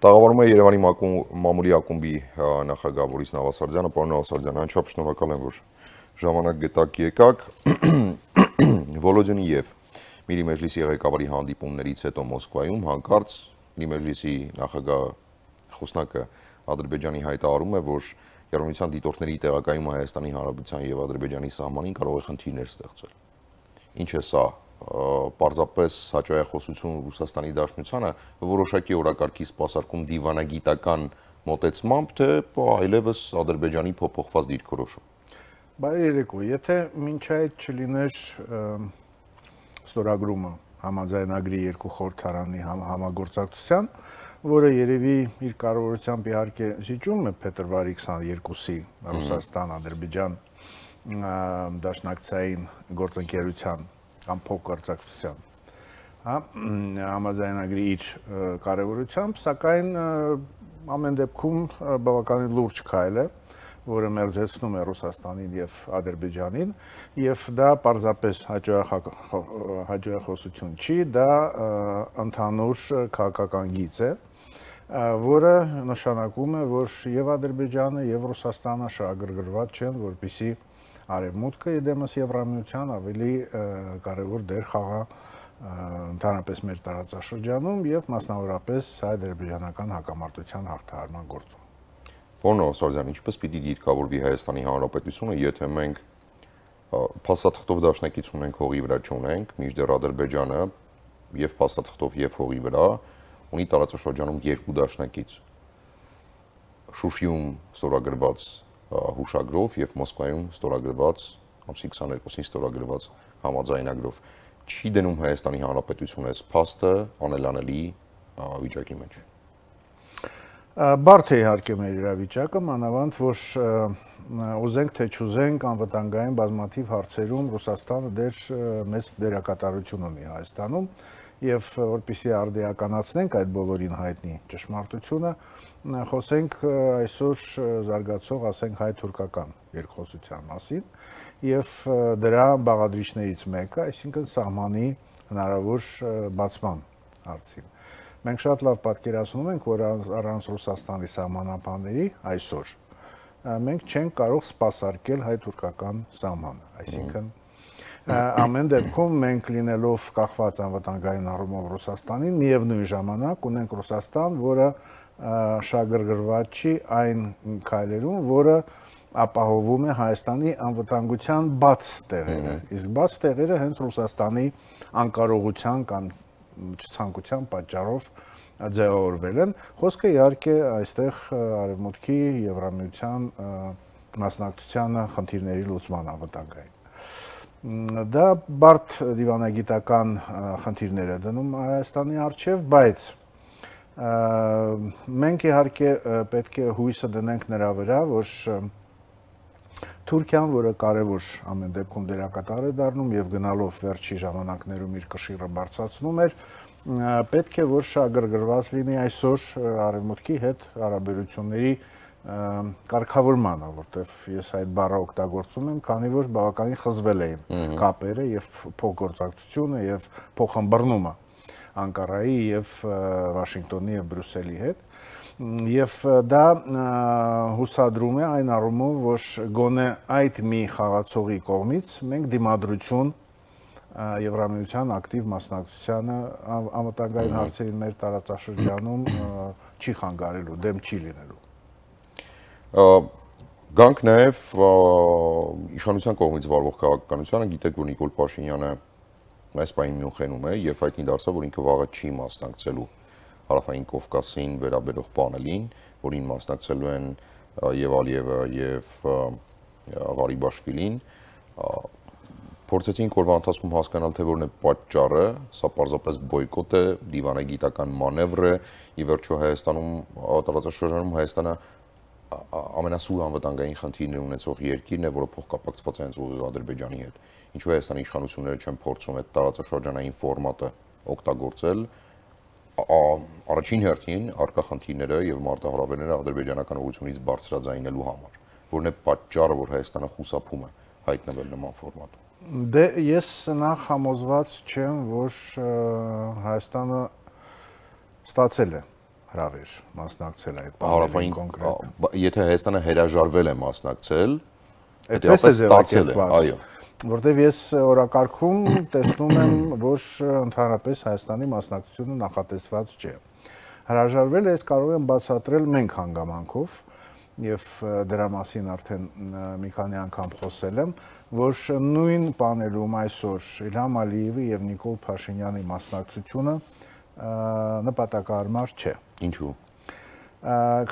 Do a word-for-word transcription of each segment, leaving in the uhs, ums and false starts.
Տաղավարում է Երևանի մամուլի ակումբի նախագահ Բորիս Նավասարդյանը, պարոն Նավասարդյան, անչափ շնորհակալ եմ, որ ժամանակ գտաք եկաք։ Վոլոդյանի եւ Միրի Մեջլիսի ղեկավարի հանդիպումներից հետո Մոսկվայում հանկարծ Միրի Մեջլիսի նախագահ խոսնակը Ադրբեջանի հայտարարում է, որ Եվրամիության դիտորդների տեղակայումը Հայաստանի Հանրապետության եւ Ադրբեջանի սահմանին կարող է խնդիրներ ստեղծել։ Ինչ է սա, պարզապես հաճախոսություն Ռուսաստանի Դաշնությանը որոշակի օրակարգի սպասարկում դիվանագիտական մոտեցմամբ, թե այլևս Ադրբեջանի փոփոխված դիրքորոշում։ Բայ երեկո, եթե մինչ այդ չլիներ ստորագրումը համաձայնագրի երկու խորհրդարանի համագործակցության, որը երևի իր կարևորությամբ իհարկե զիջում է փետրվարի քսաներկուսի Ռուսաստան-Ադրբեջան դաշնակցային գործընկերության կամ փոխգործակցության համաձայնագրի իր կարևորությամբ, սակայն ամեն դեպքում բավականին լուրջ քայլ է, որը մերձեցնում է Ռուսաստանին եւ Ադրբեջանին, եւ դա պարզապես հաջողախոսություն չի, դա ընդհանուր քաղաքական գիծ է, որը նշանակում է, որ եւ Ադրբեջանը եւ Ռուսաստանը շահագրգռված չեն, որպեսզի Արևմուտքը իդեմս Եվրամիության ավելի կարևոր դեր խաղա ընդհանրապես մեր տարածաշրջանում եւ մասնավորապես հայ-ադրբեջանական հակամարտության հաղթահարման գործում։ Պարոն Նավասարդյան, ինչպես պիտի դիրքավորվի Հայաստանի Հանրապետությունը, եթե մենք փաստաթղթով դաշնակից ունենք, հողի վրա չունենք, մինչդեռ Ադրբեջանը եւ փաստաթղթով եւ հողի վրա ունի տարածաշրջանում երկու դաշնակից։ Շուշիում ստորագրված հուշագրով եւ Մոսկվայում ստորագրված ամսի քսաներկուսին ստորագրված համաձայնագրով չի դնում Հայաստանի Հանրապետությունը այս փաստը անելանելի վիճակի մեջ։ Բարդ է իհարկե մեր իրավիճակը, մանավանդ որ ուզենք թե չուզենք անվտանգային բազմաթիվ հարցերում Ռուսաստանը դեր մեծ դերակատարություն ունի Հայաստանում եւ որպեսզի արդիականացնենք այդ բոլորին հայտնի ճշմարտությունը, խոսենք այսօր զարգացող, ասենք, հայ-թուրքական երկխոսության մասին եւ դրա բաղադրիչներից մեկը, այսինքն սահմանի հնարավոր բացման հարցին։ Մենք շատ լավ պատկերացնում ենք, որ առանց Ռուսաստանի սահմանապահների այսօր մենք չենք կարող սպասարկել հայ-թուրքական սահմանը, այսինքն ամեն դեպքում մենք լինելով կախված անվտանգային առումով Ռուսաստանին, միևնույն ժամանակ ունենք Ռուսաստան, որը շահագրգռված չի այն քայլերում, որը ապահովում է Հայաստանի անվտանգության բաց տեղերը, իսկ բաց տեղերը հենց Ռուսաստանի անկարողության կամ չցանկության պատճառով ձևավորվել են։ Խոսքը իհարկե այստեղ Արևմուտքի Եվրամիության մասնակցությանը խնդիրների լուծման անվտանգային։ Դա բարդ դիվանագիտական խնդիրներ է դնում Հայաստանի առջև, բայց մենք իհարկե պետք է հույսը դնենք նրա վրա, որ Թուրքիան, որը կարևոր ամեն դեպքում դերակատար է դառնում եւ գնալով վերջի ժամանակներում իր կշիռը բարձրացնում էր, պետք է որ շահագրգռված լինի այսօր Արևմուտքի հետ հարաբերությունների կարգավորմանը, որտեվ ես այդ բառը օգտագործում եմ, քանի որ բավականին խզվել էին կապերը եւ փոխգործակցությունը եւ փոխըմբռնումը Անկարայի եւ Վաշինգտոնի եւ Բրյուսելի հետ, եւ դա հուսադրում է այն առումով, որ գոնե այդ մի խաղացողի կողմից մենք դիմադրություն Եվրամիության ակտիվ մասնակցությանը անվտանգային հարցերին մեր տարածաշրջանում չի խանգարելու, դեմ չի լինելու։ Գանք նաև իշխանության կողմից վարվող քաղաքականությանը, գիտեք, որ Նիկոլ Փաշինյանը այս պահին Մյունխենում է եւ հայտնի դարձավ, որ ինքը վաղը չի մասնակցելու Հարավային Կովկասին վերաբերող պանելին, որին մասնակցելու են եւ Ալիևը եւ Ղարիբաշվիլին։ Փորձեցինք օրվա ընթացքում հասկանալ, թե որն է պատճառը, սա պարզապես բոյկոտ է, դիվանագիտական մանևր է, ի վերջո Հայաստանում տարածաշրջանում Հայաստանը ամենասուր անվտանգային խնդիրներ ունեցող երկիրն է, որը փոխկապակցված է հենց ուղիղ Ադրբեջանի հետ։ Ինչու Հայաստանի իշխանությունները չեն փորձում այդ տարածաշրջանային ֆորմատը օգտագործել, առաջին հերթին առկա խնդիրները եւ մարտահրավերները ադրբեջանական ուղղությունից բարձրաձայնելու համար, որն է պատճառը, որ Հայաստանը խուսափում է հայտնվել նման ֆորմատում։ Դե ես նախ համոզված չեմ, որ Հայաստանը ստացել է հրավեր մասնակցել այդ Հարավային կոնկրետ։ Եթե Հայաստանը հրաժարվել է մասնակցել, այդպես է ձևակերպված, այո, որտեղ ես օրակարգում տեսնում եմ, որ ընդհանրապես Հայաստանի մասնակցությունը նախատեսված չէ։ Հրաժարվել է, ես կարող եմ բացատրել մենք հանգամանքով, եւ դրա մասին արդեն մի քանի անգամ խոսել եմ, որ նույն պանելում այսօր Իլհամ Ալիևի եւ Նիկոլ Փաշինյանի մասնակցությունը նպատակահարմար չէ։ Ինչու՞։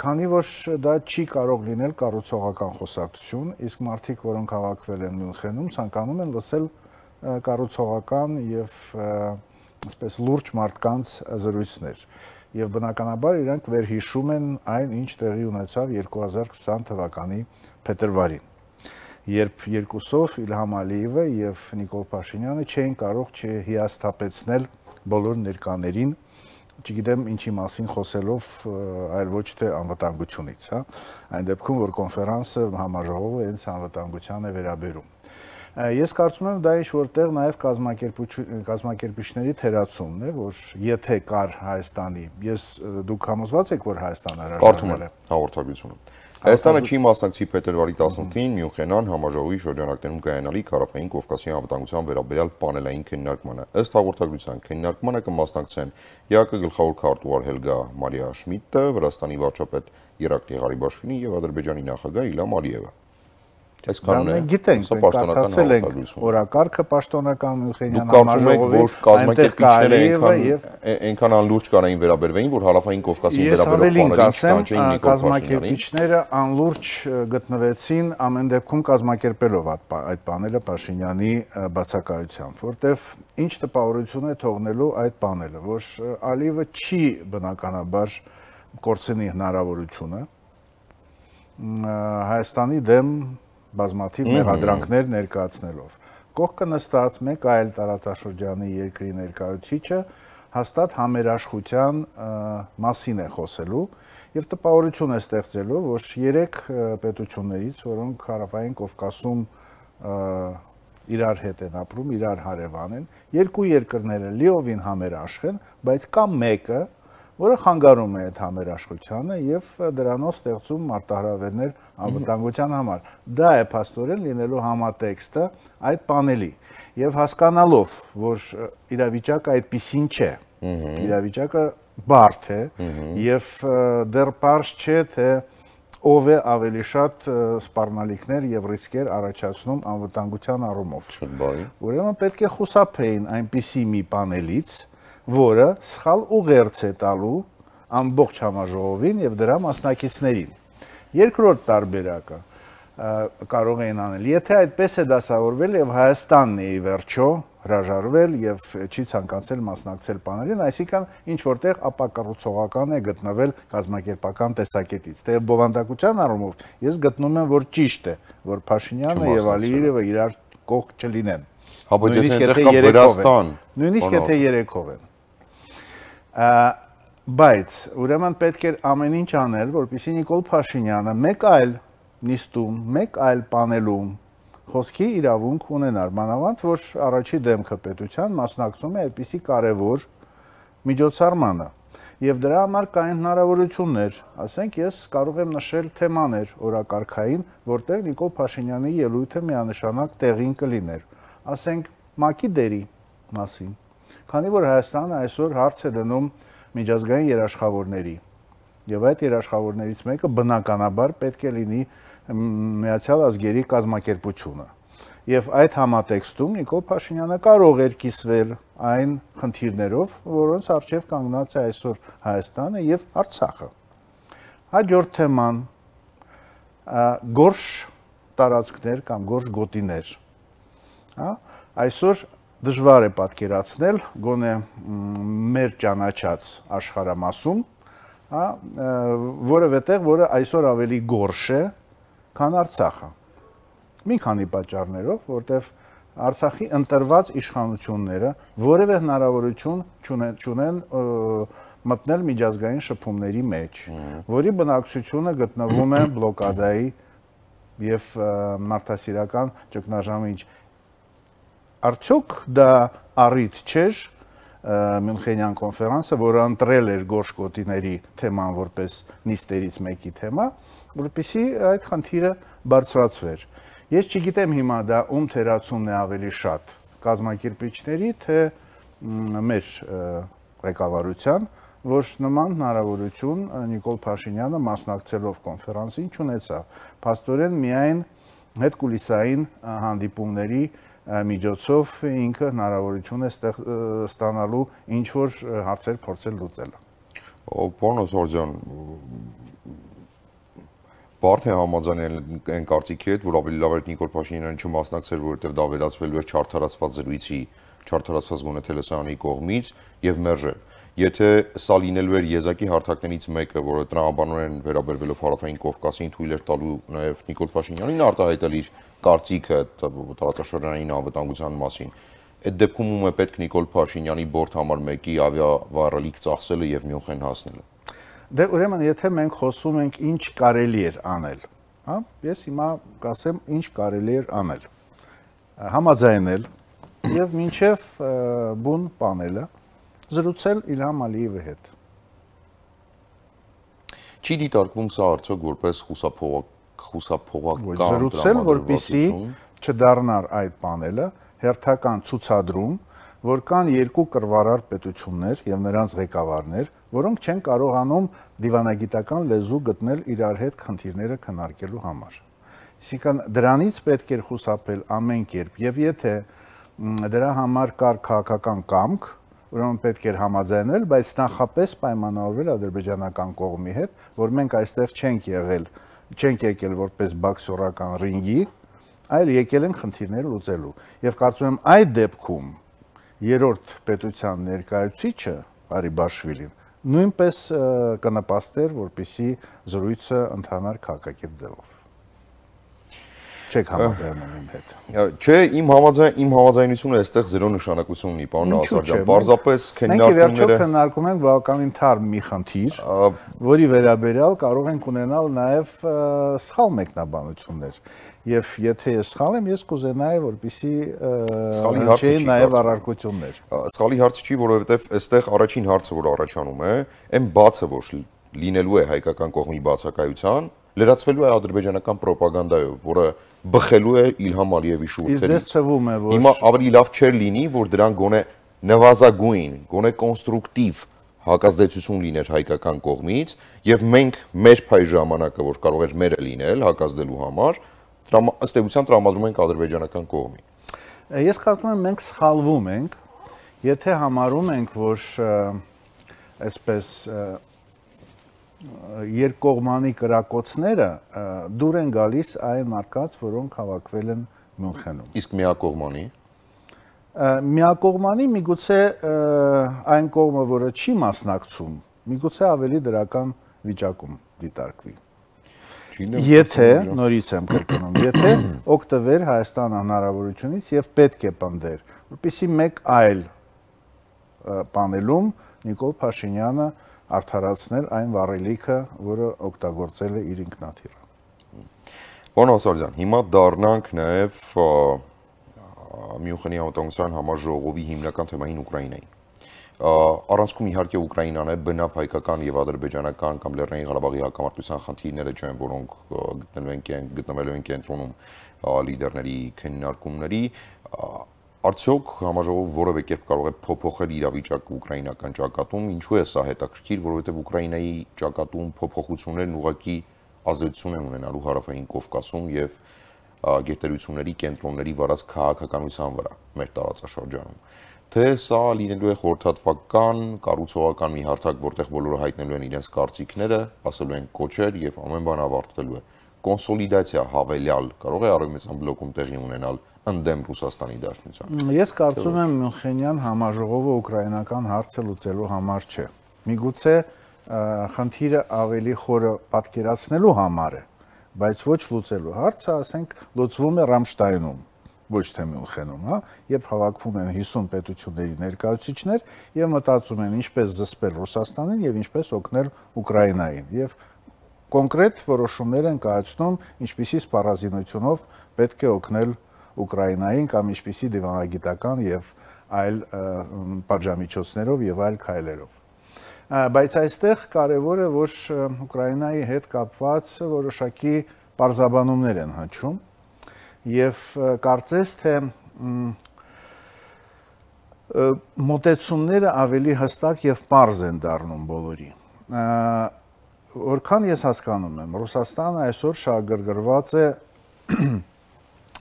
Քանի որ դա չի կարող լինել կառուցողական խոսակցություն, իսկ մարդիկ, որոնք հավաքվել են Մյունխենում, ցանկանում են լսել կառուցողական եւ այսպես լուրջ մարդկանց զրույցներ։ Եվ բնականաբար իրանք վերհիշում են այն, ինչ տեղի ունեցավ երկու հազար քսան թվականի փետրվարին, երբ երկուսով Իլհամ Ալիևը եւ Նիկոլ Փաշինյանը չէին կարող չհիասթափեցնել բոլոր ներկաներին, չգիտեմ ինչի մասին խոսելով, այլ ոչ թե անվտանգությունից, հա, այն դեպքում, որ կոնֆերանսը համաժողովը հենց անվտանգության է վերաբերում։ Ես կարծում եմ դա ինչ-որտեղ նաև կազմակերպիչների թերացումն է, որ եթե կար Հայաստանի, ես դուք համոզված եք, որ Հայաստանը հրաժարվել է։ Հաղորդագրությունը։ Հայաստանը չի մասնակցի փետրվարի տասնութին Մյունխենան համաժողովի շրջանակներում կայանալիք Հարավային Կովկասի անվտանգության վերաբերյալ պանելային քննարկմանը։ Ըստ հաղորդագրության քննարկմանը կմասնակցեն ԵԱԿ գլխավոր քարտուղար Հելգա Մարիա Շմիդտը, Վրաստանի վարչապետ Երակլի Ղարիբաշվիլին եւ Ադրբեջանի նախագահ Իլհամ Ալիևը։ Մենք գիտենք, մենք կարդացել ենք օրակարգը պաշտոնական Մյունխենյան համաժողովի, որ կազմակերպիչները այնքան անլուրջ կարային վերաբերվեին, որ Հարավային Կովկասին վերաբերող պանելին չկանչեին Նիկոլ Փաշինյանին։ Կազմակերպիչները անլուրջ գտնվեցին ամեն դեպքում կազմակերպելով այդ պանելը Փաշինյանի բացակայությամբ, որտեվ ինչ տպավորություն է թողնելու այդ պանելը, որ Ալիևը չի բնականաբար կորցնի հնարավորությունը Հայաստանի դեմ բազմաթիվ մեղադրանքներ ներկայացնելով։ Կողքը նստած մեկ այլ տարածաշրջանի երկրի ներկայացուցիչը հաստատ համերաշխության մասին է խոսելու եւ տպավորություն է ստեղծելու, որ երեք պետություններից, որոնք Հարավային Կովկասում իրար հետ են ապրում, իրար հարևան են, երկու երկրները լիովին համերաշխ են, բայց կա մեկը, որը խանգարում է այդ համերաշխությանը եւ դրանով ստեղծում մարտահրավերներ անվտանգության համար։ Դա է փաստորեն լինելու համատեքստը այդ պանելի եւ հասկանալով, որ իրավիճակը այդպեսին չէ, իրավիճակը բարդ է եւ դեռ պարզ չէ թե ով է ավելի շատ սպառնալիքներ եւ ռիսկեր առաջացնում անվտանգության առումով։ Ուրեմն պետք է խուսափեին այնպիսի մի պանելից, որը սխալ ուղերձ է տալու ամբողջ համաժողովին եւ դրա մասնակիցներին։ Երկրորդ տարբերակը կարող էին անել, եթե այդպես է դասավորվել եւ Հայաստանն է ի վերջո հրաժարվել եւ չի ցանկացել մասնակցել պանելին, այսինքն ինչ որտեղ ապակառուցողական է գտնվել կազմակերպական տեսակետից։ Թե բովանդակության առումով ես գտնում եմ, որ ճիշտ է, որ Փաշինյանը եւ Ալիևը իրար կողք չլինեն։ Նույնիսկ եթե Վրաստան, նույնիսկ եթե երեքով են։ Բայց ուրեմն պետք էր ամեն ինչ անել, որպեսզի Նիկոլ Փաշինյանը մեկ այլ նիստում, մեկ այլ պանելում խոսքի իրավունք ունենար, մանավանդ որ առաջի դեմքը պետության մասնակցում է այդպիսի կարևոր միջոցառմանը եւ դրա համար կային հնարավորություններ, ասենք ես կարող եմ նշել թեմաներ օրակարգային, որտեղ Նիկոլ Փաշինյանի ելույթը միանշանակ տեղին կլիներ, ասենք ՄԱԿ-ի դերի մասին, քանի որ Հայաստանը այսօր հարց է դնում միջազգային երաշխավորների եւ այդ երաշխավորներից մեկը բնականաբար պետք է լինի Միացյալ Ազգերի կազմակերպությունը եւ այդ համատեքստում Նիկոլ Փաշինյանը կարող էր կիսվել այն խնդիրներով, որոնց առջեւ կանգնած է այսօր Հայաստանը եւ Արցախը։ Հաջորդ թեման գորշ տարածքներ կամ գորշ գոտիներ, հա, այսօր դժվար է պատկերացնել գոնե մեր ճանաչած աշխարհամասում, հա, որովհետև որը այսօր ավելի գորշ է, քան Արցախը։ Մի քանի պատճառներով, որտեղ Արցախի ընտրված իշխանությունները որևէ հնարավորություն չունեն մտնել միջազգային շփումների մեջ, որի բնակչությունը գտնվում է բլոկադայի եւ մարդասիրական ճգնաժամի մեջ։ Արդյոք դա առիթ չէ Մյունխենյան կոնֆերանսը, որը ընտրել էր գորշ գոտիների թեման որպես նիստերից մեկի թեմա, որպեսզի այդ խնդիրը բարձրացվեր։ Ես չգիտեմ հիմա դա ում թերացումն է ավելի շատ, կազմակերպիչների, թե մեր ղեկավարության, որ նման հնարավորություն Նիկոլ Փաշինյանը մասնակցելով կոնֆերանսին չունեցավ։ Փաստորեն միայն հետկուլիսային հանդիպումների միջոցով ինքը հնարավորություն է ստանալու ինչ-որ հարցեր փորձել լուծելը։ Պարոն Օսորյան, բարդ է համաձայնել այն կարծիքի հետ, որ ավելի լավ էր Նիկոլ Փաշինյանը չմասնակցեր, որովհետև դա վերածվելու էր չարդարացված զրույցի, չարդարացված գոնե տելեսարանի կողմից եւ մերժել։ Եթե սա լինելու էր եզակի հարթակներից մեկը, որը տրամաբանորեն վերաբերվելով Հարավային Կովկասին թույլ էր տալու նաև Նիկոլ Փաշինյանին արտահայտել իր կարծիքը տարածաշրջանային անվտանգության մասին, այդ դեպքում ում է պետք Նիկոլ Փաշինյանի բորդ համար մեկի ավիավառելիք ծախսելը եւ Մյունխեն հասնելը։ Դե ուրեմն եթե մենք խոսում ենք ինչ կարելի էր անել, հա, ես հիմա կասեմ ինչ կարելի էր անել։ Համաձայնել եւ մինչեւ բուն պանելը զրուցել Իլհամ Ալիևի հետ։ Չի դիտարկվում սա արդյոք որպես խուսափողական զրուցել, որպեսզի չդառնար այդ պանելը հերթական ցուցադրում, որ կան երկու կռվարար պետություններ եւ նրանց ղեկավարներ, որոնք չեն կարողանում դիվանագիտական լեզու գտնել իրար հետ խնդիրները քննարկելու համար։ Այսինքն դրանից պետք էր խուսափել ամեն կերպ եւ եթե դրա համար կար քաղաքական կամք, ուրեմն պետք էր համաձայնել, բայց նախապես պայմանավորվել ադրբեջանական կողմի հետ, որ մենք այստեղ չենք եղել, չենք եկել որպես բոքսորական ռինգի, այլ եկել ենք խնդիրներ լուծելու։ Եվ կարծում եմ այդ դեպքում երրորդ պետության ներկայացուցիչը Ղարիբաշվիլին նույնպես կնպաստեր, որպեսզի զրույցը ընթանար քաղաքակիրթ ձևով։ Չեք համաձայնում իմ հետ։ Չէ, իմ համաձայն իմ համաձայնությունը այստեղ զերո նշանակություն ունի, պարոն Ասարջյան։ Պարզապես քննարկումները մենք վերջով քննարկում ենք բավականին թարմ մի խնդիր, որի վերաբերյալ կարող ենք ունենալ նաև սխալ մեկնաբանություններ։ Եվ եթե ես սխալ եմ, ես կուզենայի, որպեսզի հնչեին նաև առարկություններ։ Սխալի հարցը չի, որովհետև այստեղ առաջին հարցը, որ առաջանում է, այն բացը, որ լինելու է հայկական կողմի բացակայության, լրացվելու է ադրբեջանական պրոպագանդայով, որը բխելու է Իլհամ Ալիևի շուրթերից։ Իսկ թվում է, որ հիմա ավելի լավ չէր լինի, որ դրան գոնե նվազագույն, գոնե կոնստրուկտիվ հակազդեցություն լիներ հայկական կողմից, եւ մենք մեր փայ ժամանակը, որ կարող էր մերը լինել հակազդելու համար, ըստ էության տրամադրում ենք ադրբեջանական կողմին։ Ես կարծում եմ մենք սխալվում ենք, եթե համարում ենք, որ այսպես երկկողմանի կրակոցները դուր են գալիս այն մարդկանց, որոնք հավաքվել են Մյունխենում։ Իսկ միակողմանի։ Միակողմանի միգուցե այն կողմը, որը չի մասնակցում, միգուցե ավելի դրական վիճակում դիտարկվի։ Եթե, նորից եմ կրկնում, եթե օգտվեր Հայաստանը հնարավորությունից եւ պետք է պնդեր, որպեսզի մեկ այլ պանելում Նիկոլ Փաշինյանը արդարացնել այն վառելիքը, որը օգտագործել է իր ինքնաթիռը։ Պարոն Ասարջյան, հիմա դառնանք նաև Մյունխենի անվտանգության համաժողովի հիմնական թեմային Ուկրաինային։ Առանցքում իհարկե Ուկրաինան է, բնավ հայկական եւ ադրբեջանական կամ Լեռնային Ղարաբաղի հակամարտության խնդիրները չեն, որոնք գտնվելու են կենտրոնում լիդերների քննարկումների։ Արդյոք համաժողովը որևէ կերպ կարող է փոփոխել իրավիճակը ուկրաինական ճակատում, ինչու է սա հետաքրքիր, որովհետև Ուկրաինայի ճակատում փոփոխություններն ուղղակի ազդեցություն են ունենալու Հարավային Կովկասում եւ գերտերությունների կենտրոնների վարած քաղաքականության վրա մեր տարածաշրջանում։ Թե սա լինելու է խորհրդատվական, կառուցողական մի հարթակ, որտեղ բոլորը հայտնելու են իրենց կարծիքները, ասելու են կոչեր եւ ամեն բան ավարտվելու է։ Կոնսոլիդացիա հավելյալ կարող է Արևմտյան բլոկում տեղի ունենալ ընդդեմ Ռուսաստանի Դաշնության։ Ես կարծում եմ Մյունխենյան համաժողովը ուկրաինական հարցը լուծելու համար չէ։ Միգուցե խնդիրը ավելի խորը պատկերացնելու համար է, բայց ոչ լուծելու հարցը, ասենք, լուծվում է Ռամշտայնում, ոչ թե Մյունխենում, հա, երբ հավաքվում են հիսուն պետությունների ներկայացուցիչներ եւ մտածում են ինչպես զսպել Ռուսաստանին եւ ինչպես օգնել Ուկրաինային եւ կոնկրետ որոշումներ են կայացնում, ինչպիսի սպառազինությունով պետք է օգնել Ուկրաինային կամ ինչպիսի դիվանագիտական եւ այլ պատժամիջոցներով եւ այլ քայլերով։ Բայց այստեղ կարևոր է, որ Ուկրաինայի հետ կապված որոշակի պարզաբանումներ են հնչում եւ կարծես թե մոտեցումները ավելի հստակ եւ պարզ են դառնում բոլորի։ Որքան ես հասկանում եմ, Ռուսաստանը այսօր շահագրգռված է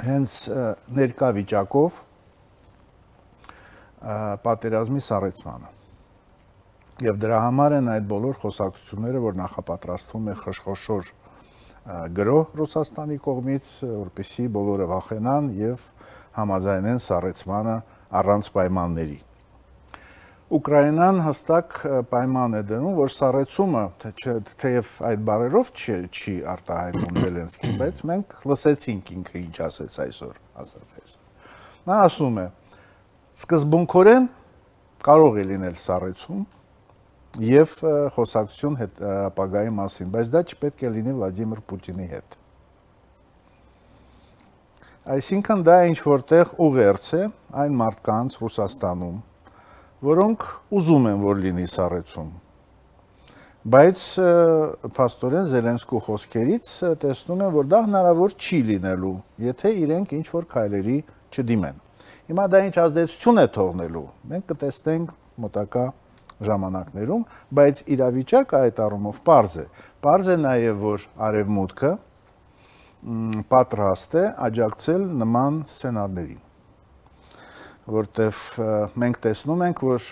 հենց ներկա վիճակով պատերազմի սառեցմանը։ Եվ դրա համար են այդ բոլոր խոսակցությունները, որ նախապատրաստվում է խշխոշոր գրոհ Ռուսաստանի կողմից, որպեսզի բոլորը վախենան եւ համաձայնեն սառեցմանը առանց պայմանների։ Ուկրաինան հստակ պայման է դնում, որ սառեցումը, թեև այդ բառերով չի արտահայտում Զելենսկին, բայց մենք լսեցինք ինքը ինչ ասեց այսօր, ասած այսօր։ Նա ասում է. սկզբունքորեն կարող է լինել սառեցում եւ խոսակցություն ապագայի մասին, բայց դա չպետք է լինի Վլադիմիր Պուտինի հետ։ Այսինքն դա ինչ որտեղ ուղերձ է այն մարդկանց Ռուսաստանում, որոնք ուզում են, որ լինի սառեցում։ Բայց փաստորեն Զելենսկու խոսքերից տեսնում են, որ դա հնարավոր չի լինելու, եթե իրենք ինչ որ քայլերի չդիմեն։ Հիմա դա ինչ ազդեցություն է թողնելու, մենք կտեսնենք մոտակա ժամանակներում, բայց իրավիճակը այդ առումով պարզ է։ Պարզ է նաև, որ Արևմուտքը պատրաստ է աջակցել նման սցենարներին, որտեվ մենք տեսնում ենք, որ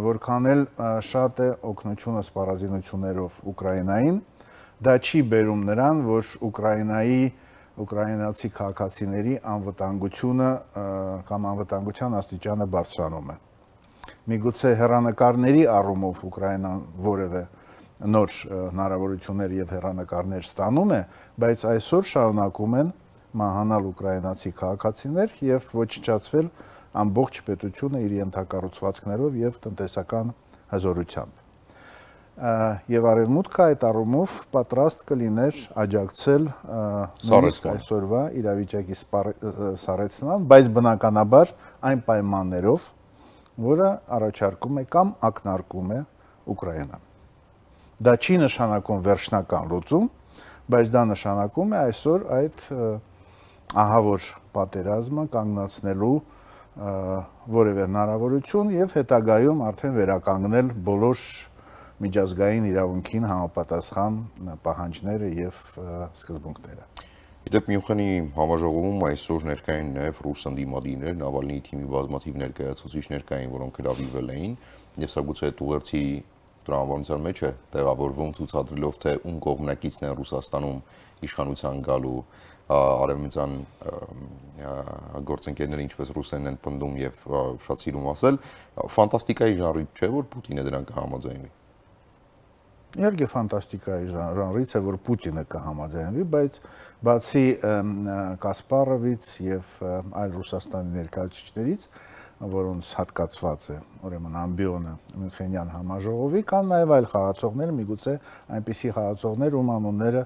որքան էլ շատ է օգնությունը սպառազինություններով Ուկրաինային, դա չի բերում նրան, որ Ուկրաինայի ուկրաինացի քաղաքացիների անվտանգությունը կամ անվտանգության աստիճանը բարձրանում է։ Միգուցե հեռանկարների առումով Ուկրաինան որևէ նոր հնարավորություններ եւ հեռանկարներ ստանում է, բայց այսօր շարունակում են մահանալ ուկրաինացի քաղաքացիներ եւ ոչնչացվել ամբողջ պետությունը իր ենթակառուցվածքներով եւ տնտեսական հզորությամբ։ Եվ Արևմուտքը այդ առումով պատրաստ կլիներ աջակցել նույնիսկ այսօրվա իրավիճակի սառեցման, բայց բնականաբար այն պայմաններով, որը առաջարկում է կամ ակնարկում է Ուկրաինան։ Դա չի նշանակում վերջնական լուծում, բայց դա նշանակում է այսօր այդ ահավոր պատերազմը կանգնացնելու որևէ հնարավորություն եւ հետագայում արդեն վերականգնել բոլոր միջազգային իրավունքին համապատասխան պահանջները եւ սկզբունքները։ Իդեպ Մյունխենի համաժողովում այսօր ներկային նաև ռուս ընդդիմադիրներ, Նավալնիի թիմի բազմաթիվ ներկայացուցիչներ կային, որոնք հրավիրվել էին, եւ սա գուցե այդ ուղերձի տրամաբանության մեջ է տեղավորվում ցուցադրելով, թե ում կողմնակիցն են Ռուսաստանում իշխանության գալու արևմտյան գործընկերները, ինչպես ռուսերեն են պնդում եւ շատ սիրում ասել, ֆանտաստիկայի ժանրի չէ, որ Պուտինը դրան կհամաձայնվի։ Իհարկե ֆանտաստիկայի ժանրից է, որ Պուտինը կհամաձայնվի, բայց բացի Կասպարովից եւ այլ Ռուսաստանի ներկայացուցիչներից, որոնց հատկացված է ուրեմն ամբիոնը Մյունխենյան համաժողովի, կան նաեւ այլ խաղացողներ, միգուցե այնպիսի խաղացողներ, ում անունները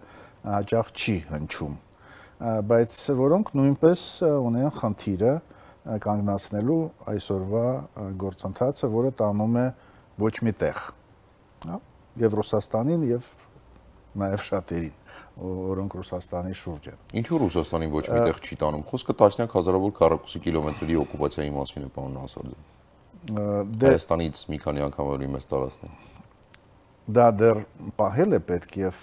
հաճախ չի հնչում, բայց որոնք նույնպես ունեն խնդիրը կանգնացնելու այսօրվա գործընթացը, որը տանում է ոչ մի տեղ։ Եվ Ռուսաստանին եւ նաեւ շատերին, որոնք Ռուսաստանի շուրջ են։ Ինչու Ռուսաստանին ոչ մի տեղ չի տանում։ Խոսքը տասնյակ հազարավոր քառակուսի կիլոմետրերի օկուպացիայի մասին է, պարոն Ասարդյան։ Հայաստանից մի քանի անգամ ավելի մեծ տարածք է։ Դա դեռ պահել է պետք եւ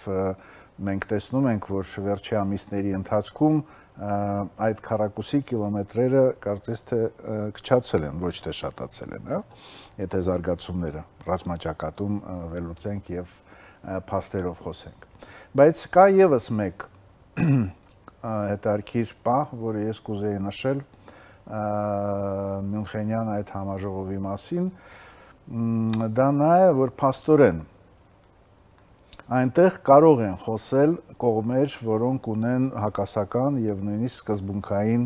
մենք տեսնում ենք, որ վերջի ամիսների ընթացքում այդ քառակուսի կիլոմետրերը կարծես թե քչացել են, ոչ թե շատացել են, հա, եթե զարգացումները ռազմաճակատում վերլուծենք եւ փաստերով խոսենք։ Բայց կա եւս մեկ հետարքիր պահ, որը ես կուզեի նշել Մյունխենյան այդ համաժողովի մասին, դա նա է, որ փաստորեն այնտեղ կարող են խոսել կողմեր, որոնք ունեն հակասական եւ նույնիսկ սկզբունքային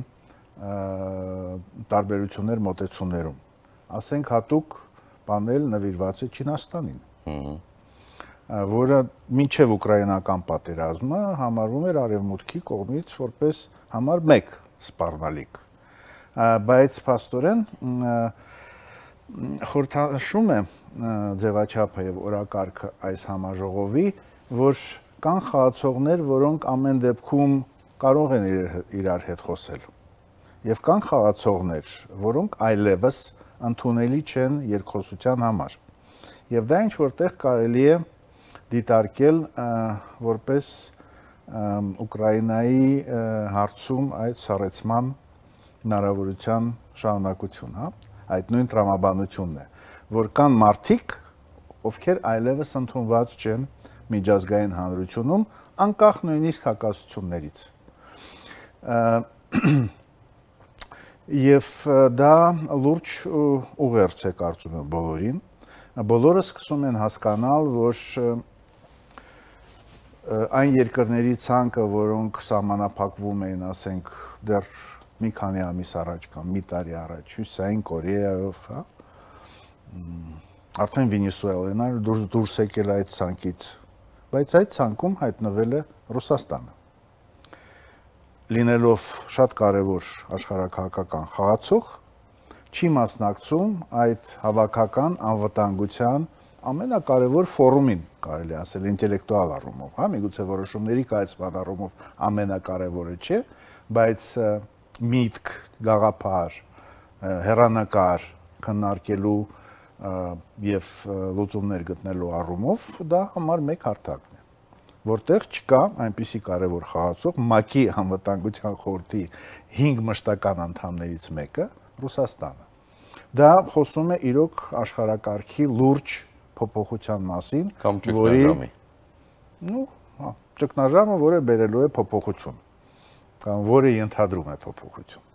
տարբերություններ մոտեցումներում։ Ասենք հատուկ պանել նվիրված է Չինաստանին, որը մինչև ուկրաինական պատերազմը համարվում էր Արևմուտքի կողմից որպես համար մեկ սպառնալիք, բայց փաստորեն խորհրդանշում է ձևաչափը եւ օրակարգը այս համաժողովի, որ կան խաղացողներ, որոնք ամեն դեպքում կարող են իրար հետ խոսել։ Եվ կան խաղացողներ, որոնք այլևս ընդունելի չեն երկխոսության համար։ Եվ դա ինչ որտեղ կարելի է դիտարկել որպես Ուկրաինայի հարցում այդ սառեցման հնարավորության շարունակություն, հա, այդ նույն տրամաբանությունն է, որ կան մարդիկ, ովքեր այլևս ընդունված չեն միջազգային հանրությունում, անկախ նույնիսկ հակասություններից։ Եվ դա լուրջ ուղերձ է կարծում եմ բոլորին, բոլորը սկսում են հասկանալ, որ այն երկրների ցանկը, որոնք սահմանափակվում էին, ասենք, դեռ մի քանի ամիս առաջ կամ մի տարի առաջ, Հյուսիսային Կորեայով, հա, արդեն Վենեսուելան էր դուրս դուրս եկել այդ ցանկից, բայց այդ ցանկում հայտնվել է Ռուսաստանը։ Լինելով շատ կարևոր աշխարհաքաղաքական խաղացող, չի մասնակցում այդ հավաքական անվտանգության ամենակարևոր ֆորումին, կարելի ասել ինտելեկտուալ առումով, հա, միգուցե որոշումների կայացման առումով ամենակարևորը չէ, բայց միտք, գաղափար, հեռանկար քննարկելու եւ լուծումներ գտնելու առումով դա համար մեկ հարթակն է, որտեղ չկա այնպիսի կարևոր խաղացող ՄԱԿ-ի անվտանգության խորհրդի հինգ մշտական անդամներից մեկը Ռուսաստանը։ Դա խոսում է իրոք աշխարհակարգի լուրջ փոփոխության մասին, կամ ճգնաժամի։ Ну, հա, ճգնաժամը, որը բերելու է փոփոխություն, կամ որը ենթադրում է փոփոխություն։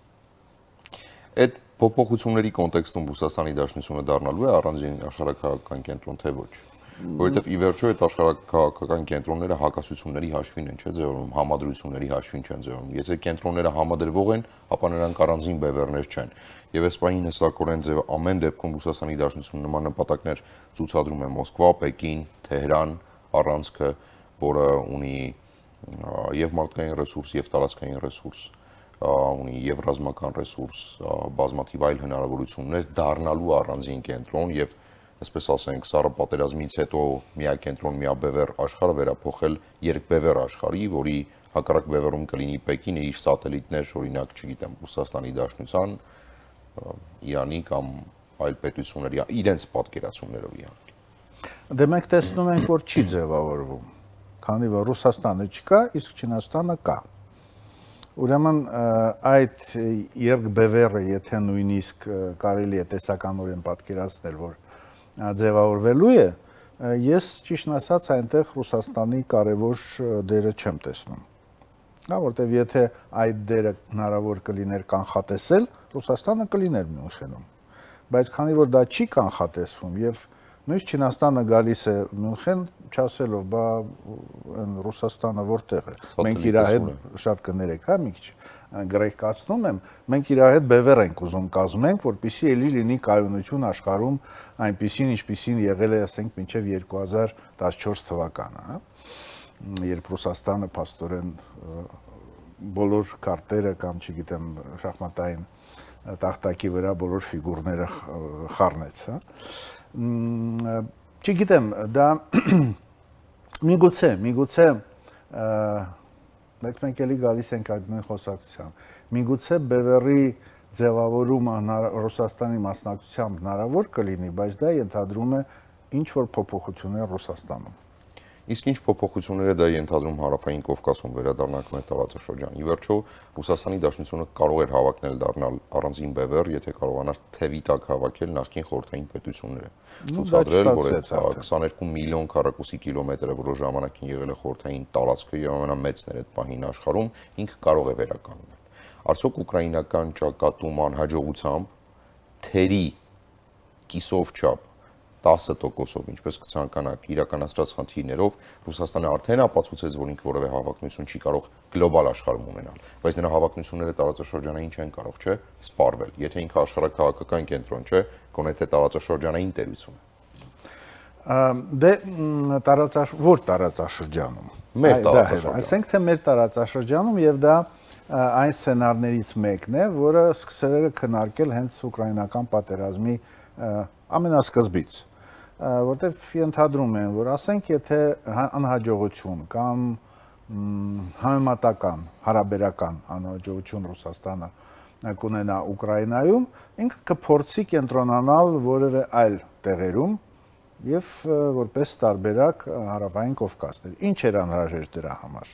Այդ փոփոխությունների կոնտեքստում Ռուսաստանի Դաշնությունը դառնալու է առանձին աշխարհակաղակական կենտրոն, թե ոչ։ Որովհետև ի վերջո այդ աշխարհակաղակական կենտրոնները հակասությունների հաշվին են, չէ՞ ձևավորում, համադրությունների հաշվին չեն ձևավորում։ Եթե կենտրոնները համադրվող են, ապա նրանք առանձին բևեռներ չեն։ Եվ այս պահին հստակորեն ձև ամեն դեպքում Ռուսաստանի Դաշնությունը նման նպատակներ ցուցադրում է Մոսկվա, Պեկին, Թեհրան առանցքը, որը ունի եւ մարդկային ռեսուրս, եւ տարածքային ռեսուրս, ունի եւ ռազմական ռեսուրս, բազմաթիվ այլ հնարավորություններ դառնալու առանձին կենտրոն եւ այսպես ասենք, սառը պատերազմից հետո միակենտրոն, միաբևեռ աշխարհը վերափոխել երկբևեռ աշխարհի, որի հակառակ բևեռում կլինի Պեկինը իր սատելիտներ, օրինակ, չգիտեմ, Ռուսաստանի Դաշնության, Իրանի կամ այլ պետությունների, իրենց պատկերացումներով իհարկե։ Դե մենք տեսնում ենք, որ չի ձևավորվում, քանի որ Ռուսաստանը չկա, իսկ Չինաստանը կա։ Ուրեմն այդ երկբևեռը, եթե նույնիսկ կարելի է տեսականորեն պատկերացնել, որ ձևավորվելու է, ես ճիշտ ասած այնտեղ Ռուսաստանի կարևոր դերը չեմ տեսնում։ Հա, որտեվ եթե այդ դերը հնարավոր կլիներ կանխատեսել, Ռուսաստանը կլիներ Մյունխենում։ Բայց քանի որ դա չի կանխատեսվում եւ նույնիսկ Չինաստանը գալիս է Մյունխեն, չասելով, բա այն Ռուսաստանը որտեղ է։ Մենք իր հետ շատ կներեք, հա, մի քիչ գրեհկացնում եմ, մենք իր հետ բևեռ ենք ուզում կազմենք, որպեսզի էլի լինի կայունություն աշխարհում այնպիսին, ինչպիսին եղել է, ասենք, մինչև երկու հազար տասնչորս թվականը, հա, երբ Ռուսաստանը փաստորեն բոլոր կարտերը կամ, չգիտեմ, շախմատային տախտակի վրա բոլոր ֆիգուրները խառնեց, հա։ Չգիտեմ, դա միգուցե, միգուցե, բայց մենք էլի գալիս ենք այդ նույն խոսակցության, միգուցե բևեռի ձևավորումը Ռուսաստանի մասնակցությամբ հնարավոր կլինի, բայց դա ենթադրում է ինչ-որ փոփոխություններ Ռուսաստանում։ Իսկ ինչ փոփոխություններ է դա ենթադրում Հարավային Կովկասում վերադառնանք մեր տարածաշրջան։ Ի վերջո Ռուսաստանի Դաշնությունը կարող էր հավակնել դառնալ առանձին բևեռ, եթե կարողանար թևի տակ հավաքել նախկին խորհրդային պետությունները։ Ցուցադրել, որ այդ քսաներկու միլիոն քառակուսի կիլոմետրը, որը ժամանակին եղել է խորհրդային տարածքը եւ ամենամեծն էր այդ պահին աշխարհում, ինքը կարող է վերականգնել։ Արդյոք ուկրաինական ճակատում անհաջողությամբ թերի կիսով չափ տասը տոկոսով, ինչպես կցանկանաք, իրականացրած խնդիրներով Ռուսաստանը արդեն ապացուցեց, որ ինքը որևէ հավակնություն չի կարող գլոբալ աշխարհում ունենալ, բայց նրա հավակնությունները տարածաշրջանային չեն կարող, չէ՞, սպառվել, եթե ինքը աշխարհակաղակական կենտրոն չէ, գոնե թե տարածաշրջանային տերություն է։ Դե տարածաշ որ տարածաշրջանում։ Մեր տարածաշրջանում։ Այսինքն թե մեր տարածաշրջանում եւ դա այն սցենարներից մեկն է, որը սկսել է քննարկել հենց ուկրաինական պատերազմի ամենասկզբից, որտեղ ենթադրում են, որ ասենք, եթե անհաջողություն կամ համեմատական, հարաբերական անհաջողություն Ռուսաստանը կունենա Ուկրաինայում, ինքը կփորձի կենտրոնանալ որևէ այլ տեղերում եւ որպես տարբերակ հարավային Կովկասներ։ Ինչ էր անհրաժեշտ դրա համար,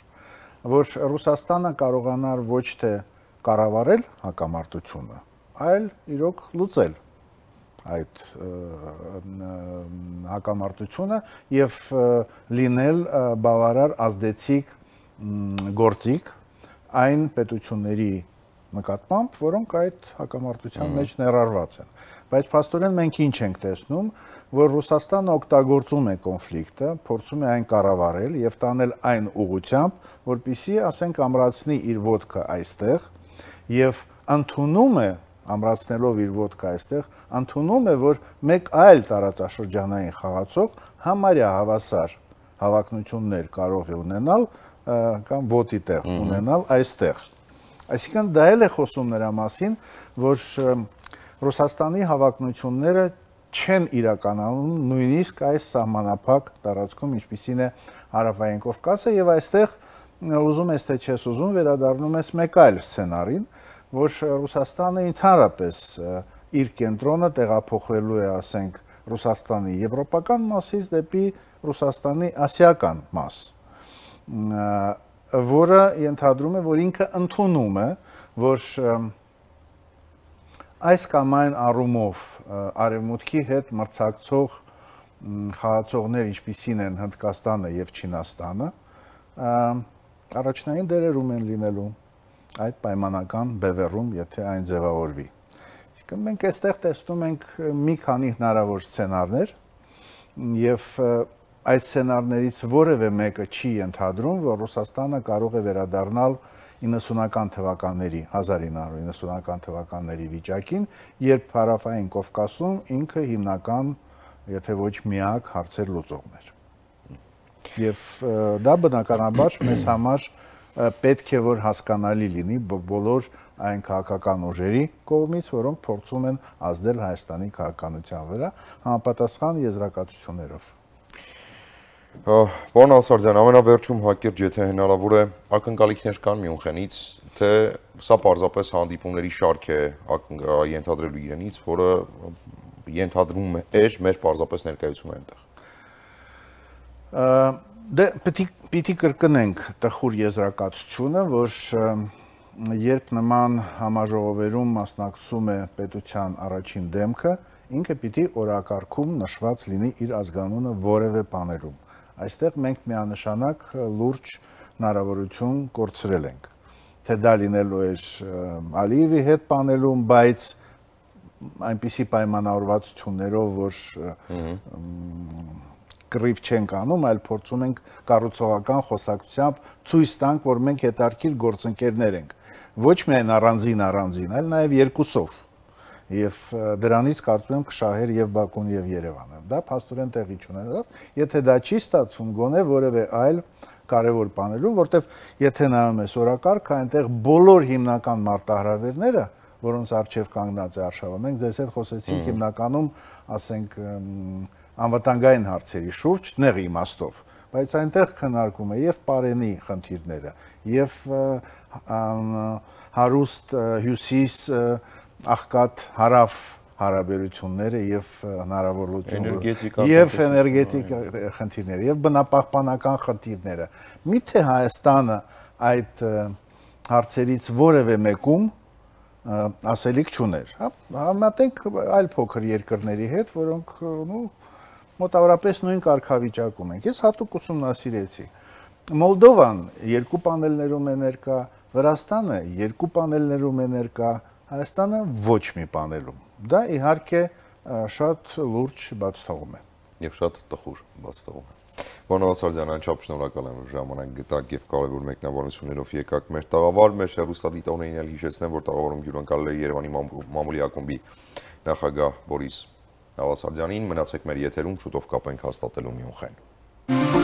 որ Ռուսաստանը կարողանար ոչ թե կառավարել հակամարտությունը, այլ իրոք լուծել այդ հակամարտությունը եւ լինել բավարար ազդեցիկ գործիք այն պետությունների նկատմամբ, որոնք այդ հակամարտության մեջ ներառված են։ Բայց փաստորեն մենք ինչ ենք տեսնում, որ Ռուսաստանը օգտագործում է կոնֆլիկտը, փորձում է այն կառավարել եւ տանել այն ուղղությամբ, որպեսզի, ասենք, ամրացնի իր ոտքը այստեղ եւ ընդունում է, ամրացնելով իր ոտքը այստեղ, ընդունում է, որ մեկ այլ տարածաշրջանային խաղացող համարյա հավասար հավակնություններ կարող է ունենալ կամ ոտի տեղ ունենալ այստեղ։ Այսինքն դա էլ է խոսում նրա մասին, որ Ռուսաստանի հավակնությունները չեն իրականանում նույնիսկ այս սահմանափակ տարածքում, ինչպիսին է հարավային Կովկասը, եւ այստեղ ուզում ես թե չես ուզում վերադառնում ես մեկ այլ սցենարին, որ Ռուսաստանը ընդհանրապես իր կենտրոնը տեղափոխվելու է, ասենք, Ռուսաստանի եվրոպական մասից դեպի Ռուսաստանի ասիական մաս, որը ենթադրում է, որ ինքը ընդունում է, որ այս կամ այն առումով արևմուտքի հետ մրցակցող խաղացողներ, ինչպիսին են Հնդկաստանը եւ Չինաստանը, առաջնային դերերում են լինելու այդ պայմանական բևեռում, եթե այն ձևավորվի։ Այսինքն մենք այստեղ տեսնում ենք մի քանի հնարավոր սցենարներ եւ այդ սցենարներից որևէ մեկը չի ենթադրում, որ Ռուսաստանը կարող է վերադառնալ իննսունական թվականների, հազար ինը հարյուր իննսունական թվականների վիճակին, երբ հարավային Կովկասում ինքը հիմնական, եթե ոչ միակ հարցեր լուծողն էր։ Եվ դա բնականաբար մեզ համար պետք է որ հասկանալի լինի բոլոր այն քաղաքական ուժերի կողմից, որոնք փորձում են ազդել Հայաստանի քաղաքականության վրա համապատասխան եզրակացություններով։ Պարոն Ասարդյան, ամենավերջում հակիրճ, եթե հնարավոր է, ակնկալիքներ կան Մյունխենից, թե սա պարզապես հանդիպումների շարք է ենթադրելու իրենից, որը ենթադրում էր մեր պարզապես ներկայությունը այնտեղ։ Դե պիտի կրկնենք տխուր եզրակացությունը, որ երբ նման համաժողովերում մասնակցում է պետության առաջին դեմքը, ինքը պիտի օրակարգում նշված լինի իր ազգանունը որևէ բաներում։ Այստեղ մենք միանշանակ լուրջ հնարավորություն կորցրել ենք, թե դա լինելու էր Ալիևի հետ պանելում, բայց այնպիսի պայմանավորվածություններով, որ կռիվ չենք անում, այլ փորձում ենք կառուցողական խոսակցությամբ ցույց տանք, որ մենք հետարքիր գործընկերներ ենք, ոչ միայն առանձին առանձին, այլ նաև երկուսով։ Եվ դրանից կարծում եմ կշահեր եւ Բաքուն եւ Երևանը։ Դա փաստորեն տեղի չունենավ, եթե դա չի ստացվում, գոնե որևէ այլ կարևոր բաներում, որտեվ եթե նայում ես օրակարգը, այնտեղ բոլոր հիմնական մարտահրավերները, որոնց առջև կանգնած է արշավը, մենք ձեզ հետ խոսեցինք հիմնականում, ասենք, անվտանգային հարցերի շուրջ, նեղ իմաստով, բայց այնտեղ քննարկում է եւ Պարենի խնդիրները, եւ հարուստ հյուսիս աղքատ հարավ հարաբերությունները եւ հնարավորությունը եւ էներգետիկ խնդիրները եւ բնապահպանական խնդիրները։ Միթե Հայաստանը այդ հարցերից որևէ մեկում ասելիք չուներ։ Համատենք այլ փոքր երկրների հետ, որոնք մոտավորապես նույն կարգավիճակում են։ Ես հատուկ ուսումնասիրեցի։ Մոլդովան երկու պանելներում է ներկա, Վրաստանը երկու պանելներում է ներկա, Հայաստանը ոչ մի պանելում։ Դա իհարկե շատ լուրջ բաց թողում է։ Եվ շատ տխուր բաց թողում է։ Պարոն Ասարդյան, անչափ շնորհակալ եմ, որ ժամանակ գտաք եւ կարևոր մեկնաբանություններով եկաք մեր տաղավար, մեր հեռուստադիտողներին էլ հիշեցնեմ, որ տաղավարում հյուրընկալել է Երևանի մամուլի ակումբի նախագահ Բորիս Նավասարդյանին, մնացեք մեր եթերում, շուտով կապենք հաստատելու Մյունխեն։